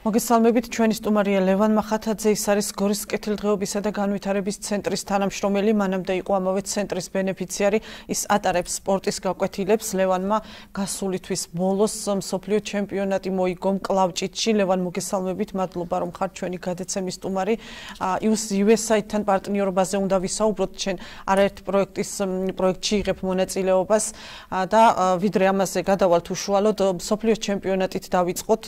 მოგესალმებით, ჩვენი სტუმარია ლევან მახათაძე, ის არის გორის კეთილდღეობისა და განვითარების ცენტრის თანამშრომელი, მანამდე იყო ამავე ცენტრის ბენეფიციარი, ის ატარებს სპორტის გაკვეთილებს. ლევანმა გასული თვის ბოლოს მსოფლიო ჩემპიონატი მოიგო მკლავჭიდში. ლევან, მოგესალმებით, მადლობა რომ ხართ ჩვენი გადაცემის სტუმარი. USAID-თან პარტნიორობაზე უნდა ვისაუბროთ, ჩვენ არაერთ პროექტში იღებ მონაწილეობას და ვიდრე ამაზე გადავალთ უშუალოდ, მსოფლიო ჩემპიონატით დავიწყოთ,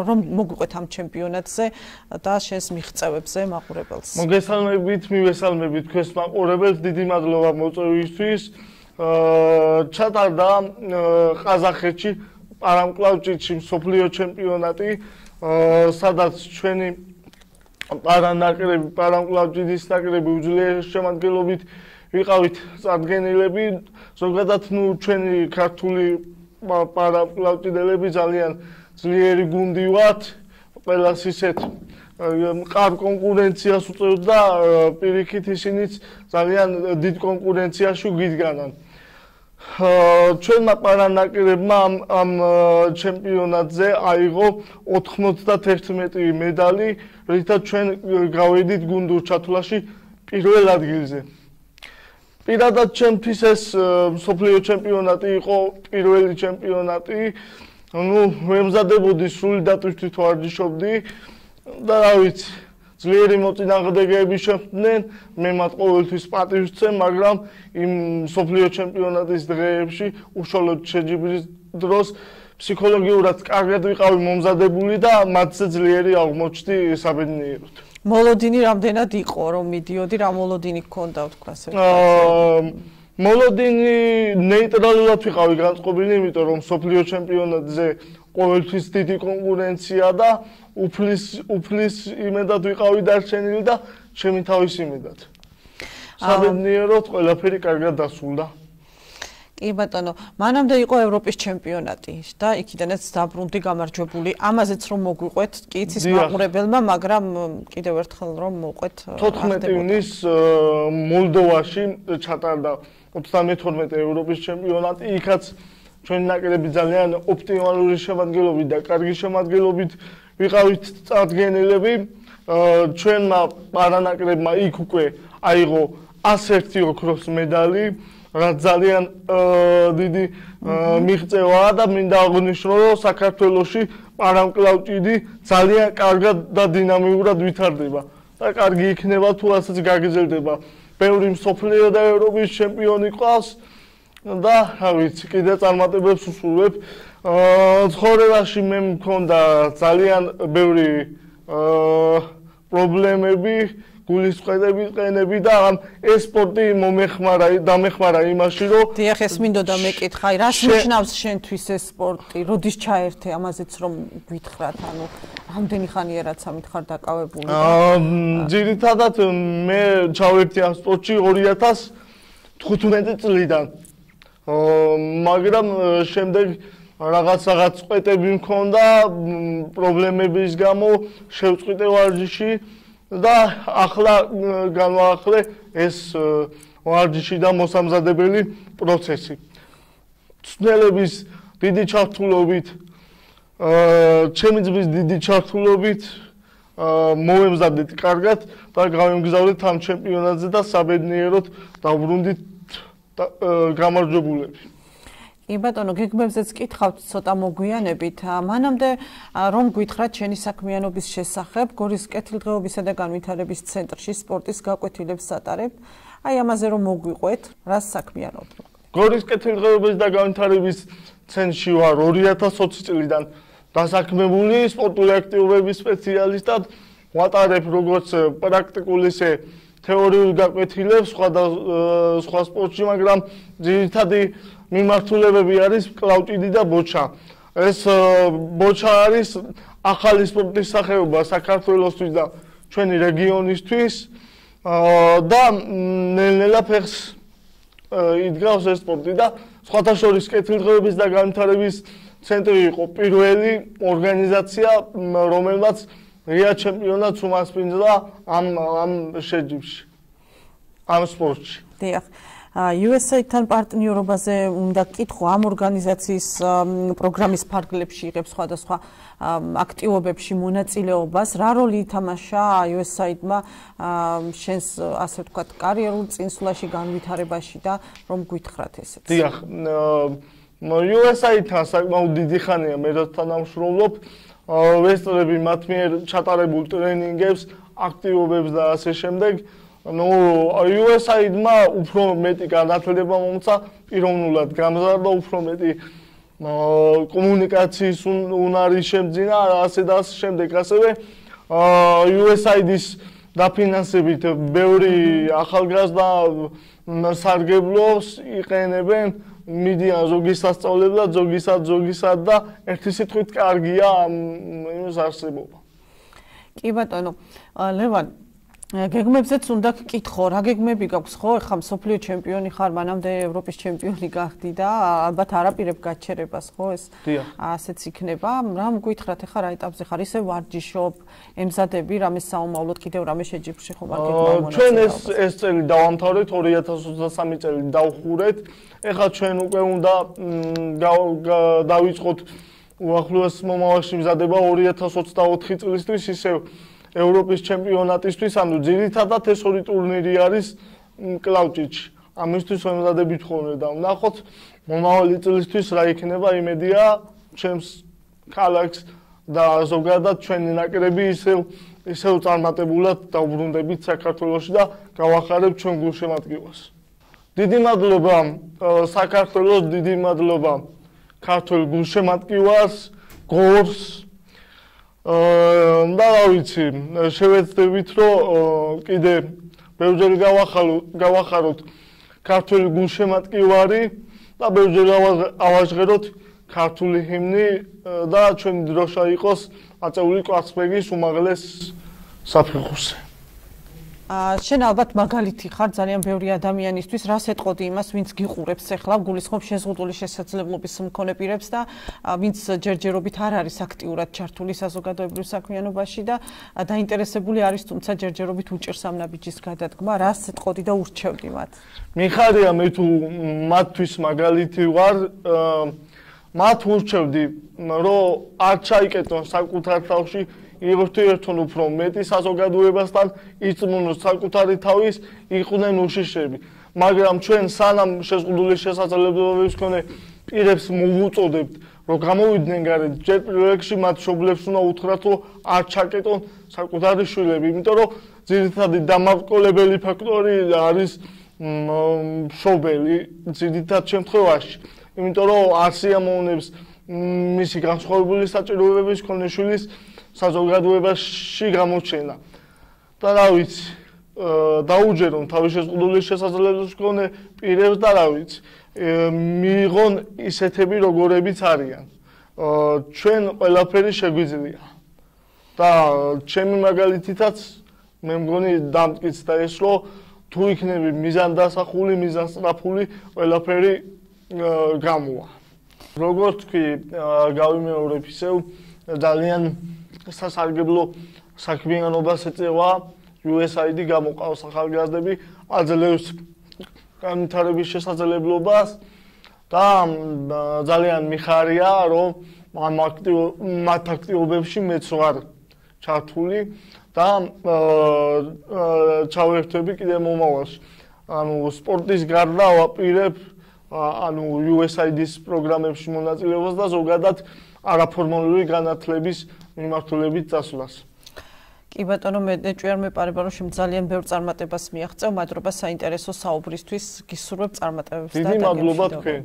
რომ მოგვიყვეთ ამ ჩემპიონატზე და შენს მიღწევებზე მაყურებელს. მოგესალმებით, მივესალმებით თქვენს მაყურებელს, დიდი მადლობა მოწვევისთვის. ჩატარდა ყაზახეთში პარამკლავჭიდში მსოფლიო ჩემპიონატი, სადაც ჩვენი პარამკლავჭიდის ნაკრები უძლიერესშემადგენლობით ვიყავით წარდგენილები, ზოგადად ჩვენი ქართული პარამკლავჭიდელები ძალიან ძლიერი გუნდი ვართ, ყველას ისეთ მყარ კონკურენციას უწევდა, პირიქით ისინიც ძალიან დიდ კონკურენციაში გვიდგანან. ჩვენმა პარანაკრებმა ამ ჩემპიონატზე აიღო 91 მედალი, რითაც ჩვენ გავედით გუნდურ ჩათვლაში პირველ ადგილზე. პირადად ჩემთვის ეს მსოფლიო ჩემპიონატი იყო პირველი ჩემპიონატი. ვემზადებოდი სრული დატვირთვით ვარჯიშობდი და რა ვიცი, ძლიერი მოწინააღმდეგეები შეხვდნენ, მე მათ ყოველთვის პატივს ვცემ, მაგრამ იმ მსოფლიო ჩემპიონატის დღეებში უშუალოდ შეჯიბრის დროს ფსიქოლოგიურად კარგად ვიყავი მომზადებული და მათზე ძლიერი აღმოჩნდი საბედნიეროდ. მოლოდინი რამდენად იყო, რომ მიდიოდი, რა მოლოდინი გქონდა თქვა ასე? მოლოდინი ნეიტრალურად ვიყავი განწყობილი, იმიტომ რომ მსოფლიო ჩემპიონატზე ყოველთვის დიდი კონკურენცია და უფლის იმედად ვიყავი დარჩენილი და ჩემი თავის იმედად. საბედნიეროდ ყველაფერი კარგად დასრულდა. კი ბატონო, მანამდე იყო ევროპის ჩემპიონატი და იქიდანაც დაბრუნდი გამარჯვებული. ამაზეც რომ მოგვიყვეთ, კი იცის მაყურებელმა, მაგრამ კიდევ ერთხელ რომ მოყვეთ 14 ივნის მოლდოვაში ჩატარდა 32 ევროპის ჩემპიონატი, იქაც ჩვენი ნაკრები ძალიან ოპტიმალური შემადგენლობით და კარგი შემადგენლობით ვიყავით წარდგენილები. ჩვენმა პარანაკრებმა იქ უკვე აიღო 101 ოქროს მედალი, რაც ძალიან დიდი მიღწევაა და მინდა აღვნიშნო, რომ საქართველოში პარამკლავჭიდი ძალიან კარგად და დინამიურად ვითარდება და კარგი იქნება თუ ასეც გაგრძელდება. ბევრი მსოფლიო და ევროპის ჩემპიონი ყავს და რა ვიცი, კიდე წარმატებებს უსურვებ. ცხოვრებაში მე მქონდა ძალიან ბევრი პრობლემები, გულისწყდები ყენები და ეს სპორტი დამეხმარა იმაში, რომ დიახ, ეს მინდოდა მეკითხა, რას ნიშნავს შენთვის ეს სპორტი, როდის ჩაერთე ამაზეც რომ გვითხრათ, ანუ რამდენი ხანია რაც ამით ხარ დაკავებული? ძირითადად მე ჩავერთი ამ სპორტში 2015 წლიდან. მაგრამ შემდეგ რაღაც წვეტები მქონდა, პრობლემების გამო შევწყვიტე ვარჯიში და ახლა განვაახლე ეს ვარჯიში და მოსამზადებელი პროცესი. ცნელების დიდი ჩართულობით, ჩემი ძმის დიდი ჩართულობით მოვემზადეთ კარგად და გავემგზავრეთ ამ ჩემპიონატზე და საბედნიეროდ დავბრუნდით გამარჯვებულები. კი ბატონო, გეგმებზეც კითხავთ ცოტა მოგვიანებით. მანამდე რომ გითხრათ ჩვენი საქმიანობის შესახებ, გორის კეთილდღეობისა და განვითარების ცენტრში სპორტის გაკვეთილებს ატარებ. აი ამაზე რომ მოგვიყვეთ, რას საქმიანობთ? გორის კეთილდღეობის და განვითარების ცენტრში ვარ 2020 წლიდან დასაქმებული სპორტული აქტივობების სპეციალისტად. ვატარებ როგორც პრაქტიკულ ისე თეორიულ გაკვეთილებს სხვა სპორტში, მაგრამ ძირითადი მიმართულებები არის კლავჭიდი და ბოჩა. ეს ბოჩა არის ახალი სპორტის სახეობა საქართველოსთვის და ჩვენი რეგიონისთვის და ნელ-ნელა ფეხს იდგავს ეს სპორტი და სხვათა შორის კეთილდღეობის და განვითარების ცენტრი იყო პირველი ორგანიზაცია, რომელმაც ღია ჩემპიონატს უმასპინძლა ამ შეჯიბრში, ამ სპორტში. დიახ. USA-თან პარტნიორობაზე უნდა კითხო ამ ორგანიზაციის პროგრამის ფარგლებში იღებს სხვადასხვა აქტივობებში მონაწილეობას. რა როლი ითამაშა USA-დმა შენს ასე ვთქვათ კარიერულ წინსვლაში, განვითარებაში და რომ გვითხრათ ესეც? დიახ, USA-თან საკმაოდ დიდი ხანია მე თანამშრომლობ. ვესწრები მათ მიერ ჩატარებულ ტრენინგებს, აქტივობებს და ასე შემდეგ. USA-დმა უფრო მეტი განათლება მომცა, პიროვნულად გამზარდა, უფრო მეტი კომუნიკაციის უნარი შემძინა, ასე და ასე შემდეგ. ასევე USA-დის დაფინანსებით ბევრი ახალგაზრდა სარგებლობს, იყენებენ, მიდიან ზოგი სასწავლებლად, ზოგისად და ერთი სიტყვით კარგია იმის არსებობა. კი ბატონო, ლევან, გეგმებზეც უნდა გკითხო, რა გეგმები გაქვს ხო? ეხლა მსოფლიო ჩემპიონი ხარ, მანამდე ევროპის ჩემპიონი გახდი და ალბათ არაპირებ გაჩერებას ხო ეს? ასეც იქნება. რა მგვითხრათ ეხლა რა ეტაპზე ხარ? ისე ვარჯიშობ, ემზადები რამე საომავლოდ, კიდევ რამე შეჯიბრში ხო მაგ გეგმა? ჩვენ ეს წელი დავამთავრეთ, 2023 წელი დავხურეთ. ეხლა ჩვენ უკვე უნდა დავიწყოთ უახლოეს მომავალში მზადება 2024 წლისთვის ისევ ევროპის ჩემპიონატისთვის, ანუ ძირითადად ეს ორი ტურნირი არის კლავჭიჩი. ამისთვის ვემზადებით ხოლმე და ვნახოთ მომავალი წლისთვის რა იქნება, იმედია ჩემს ქალაქს და ზოგადად ჩვენი ნაკრები ისევ წარმატებულად დავბრუნდებით საქართველოში და გავახარებთ ჩვენ გულშემატკივარს. დიდი მადლობა საქართველოს, დიდი მადლობა ქართულ გულშემატკივარს, გორს და რა ვიცი, შევეცდებით რომ კიდე ბევრჯერ გავახაროთ ქართული გულშემატკივარი და ბევრჯერ ავაჟღეროთ ქართული ჰიმნი და ჩვენი დროშა იყოს აწეული კვარცხლბეკის უმაღლეს საფეხურზე. შენ ალბათ მაგალითი ხარ ძალიან ბევრი ადამიანისთვის, რას ეტყოდი იმას, ვინც გიყურებს ახლა, გულისხმობ შეზღუდული შესაძლებლობის მქონე პირებს და ვინც ჯერჯერობით არ არის აქტიურად ჩართული საზოგადოებრივ საქმიანობაში და დაინტერესებული არის, თუმცა ჯერჯერობით უჭერს ამ ნაბიჯის გადადგმა, რას ეტყოდი და ურჩევდი მათ? მიხარია მე თუ მათთვის მაგალითი ვარ, მათ ურჩევდი, რომ არ ჩაიკეტონ საკუთარ თავში იღრთვიერთონ უფრო მეტი საზოგადოებასთან, იწმუნოს საკუთარი თავის, იყვნენ უშიშები. მაგრამ ჩვენ სანამ შეზღუდული შესაძლებლობების მქონე პირებს მოვუწოდებთ, რომ გამოვიდნენ გარეთ, ჯერ პირველ რიგში მათ მშობლებს უნდა უთხრათ, რომ არ ჩაკეტონ საკუთარი შვილები, იმიტომ რომ ძირითადი დამავკოლებელი ფაქტორი არის მშობელი ძირითად შემთხვევაში. იმიტომ რომ არ სიამოვნებს მისი განსხვავებული საჭიროებების მქონე შვილის საზოგადოებაში გამოჩენა. და რა ვიცი, დაუჯერონ თავის შეზღუდული შესაძლებლობის მქონე პირებს და რა ვიცი, მიიღონ ისეთები როგორებიც არიან. ჩვენ ყველაფერი შეგვიძლია. და ჩემი მაგალითითაც მე მგონი დამტკიცდა ეს, რომ თუ იქნები მიზანდასახული, მიზანსწრაფული, ყველაფერი გამოვა. როგორც თქვი, გავიმეორებ ისევ ძალიან სასარგებლო საქმიანობას ეწევა USA-დი, გამოყავს ახალგაზრდები, აძლევს განვითარების შესაძლებლობას და ძალიან მიხარია, რომ მათ აქტივობებში მეც ვარ ჩართული და ჩავერთვები კიდე მომავალში. ანუ სპორტის გარდა ვაპირებ USA-დის პროგრამებში მონაწილეობას და ზოგადად არაფორმალური განათლების მიმართულებით წასვლას. კი ბატონო, მე ჭვიარ მეპარება, რომ შენ ძალიან ბევრ წარმატებას მიაღწევ, მადლობა საინტერესო საუბრისთვის, გისურვებ წარმატებებს და დიდი მადლობა თქვენ.